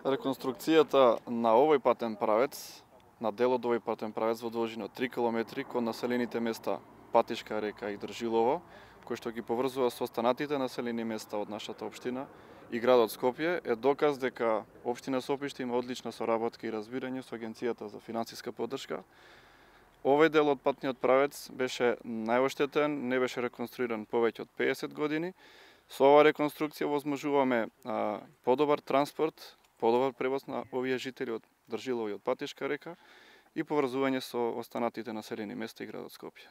Реконструкцијата на овој патен правец, на дел од овој патен правец во должина од 3 км кон населените места Патишка река и Држилово, кој што ги поврзува со останатите населени места од нашата општина и градот Скопје, е доказ дека општина Сопиште има одлична соработка и разбирање со Агенцијата за финансиска поддршка. Овој дел од патниот правец беше најоштетен, не беше реконструиран повеќе од 50 години. Со оваа реконструкција возможуваме подобар транспорт, подобар превоз на овие жители од Држилово и од Патишка река и поврзување со останатите населени места и градот Скопје.